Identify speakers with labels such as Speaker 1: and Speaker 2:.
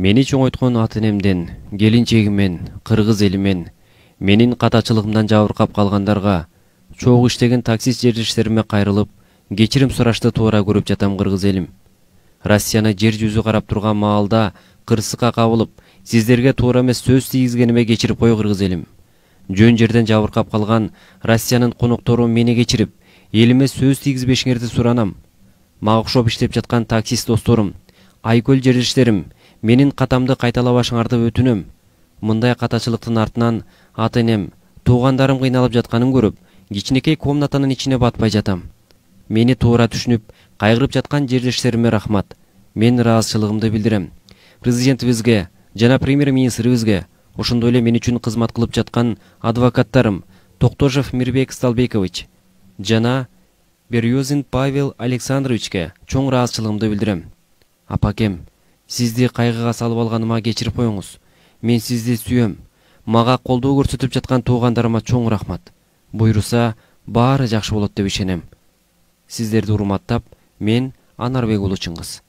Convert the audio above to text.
Speaker 1: Мени чоңойткон ата-энемден, келинчегимен, кыргыз элимен, менин катачылыгымдан жабыркап калгандарга, чогуу иштеген таксист жерлештериме кайрылып, кечирим сурашты туура көрүп жатам кыргыз элим. Россияны жер жүзү карап турган маалда кырсыкка кабылып, сиздерге туура эмес сөз тийгизгениме кечирип кой кыргыз элим. Жөн жерден жабыркап калган Россиянын коноктору мени кечирип, элиме сөз тийгизбешиңерди суранам. Мага окшоп иштеп жаткан таксист досторум, Айкөл жерлештерим, менин катамды кайталабашыңарды өтүнөм. Мындай катачылыктын артынан ата-энем, туугандарым кыйналып жатканын көрүп, кичинекей комнатанын ичине батпай жатам. Мени туура түшүнүп, кайгырып жаткан жерлештериме рахмат. Мен ыраазычылыгымды билдирем. Президентибизге жана премьер-министрибизге, ошондой эле мен үчүн кызмат кылып жаткан адвокаттарым Токтожев Мирбек Сталбекович жана Березин Павел Александровичке чоң ыраазычылыгымды билдирем. Апакем, сизди кайгыга салып алганыма кечирип коюңуз. Мен сизди сүйөм. Мага колдоо көрсөтүп жаткан туугандарыма чоң рахмат. Буйруса, баары жакшы болот деп ишенем. Сиздерди урматтап, мен Анарбек уулу Чыңгыз.